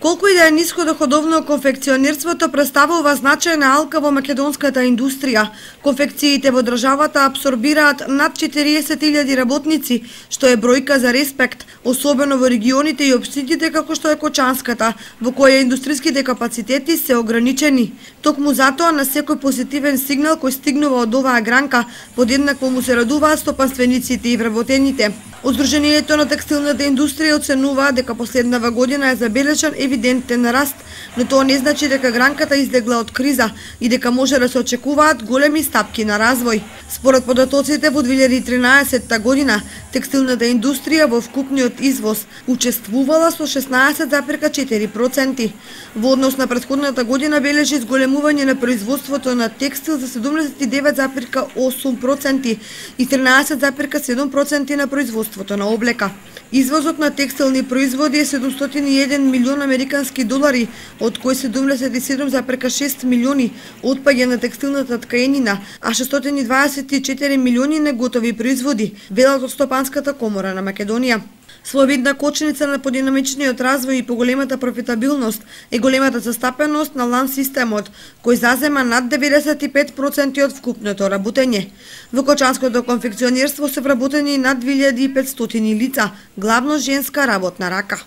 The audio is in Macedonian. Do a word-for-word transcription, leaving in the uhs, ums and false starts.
Колку и да е ниско доходовно конфекционерството, представува значајна алка во македонската индустрија. Конфекциите во државата апсорбираат над четириесет илјади работници, што е бројка за респект, особено во регионите и општините како што е Кочанската, во која индустриските капацитети се ограничени. Токму затоа на секој позитивен сигнал кој стигнува од оваа гранка, подеднакво му се радуваат стопанствениците и вработените. Од на текстилната индустрија оценуваа дека последнава година е забележан евидентен раст, но тоа не значи дека гранката излегла од криза и дека може да се очекуваат големи стапки на развој. Според податоците во две илјади и тринаесетта година, текстилната индустрија во вкупниот извоз учествувала со шеснаесет зарез четири проценти. Во однос на претходната година бележи зголемување на производството на текстил за седумдесет и девет зарез осум проценти и тринаесет зарез седум проценти на производството на облека. Извозот на текстилни производи е седумстотини и еден милион американски долари, од кои седумдесет и седум зарез шест милиони отпаѓа на текстилната ткаенина, а шестстотини дваесет и четири милиони неготови производи, велат од Стопанската комора на Македонија. Своевидна кочница на подинамичниот развој и поголемата профитабилност е големата застапеност на лан системот, кој зазема над деветдесет и пет проценти од вкупното работење. Во кочанското конфекционерство се вработени над две илјади и петстотини лица, главно женска работна рака.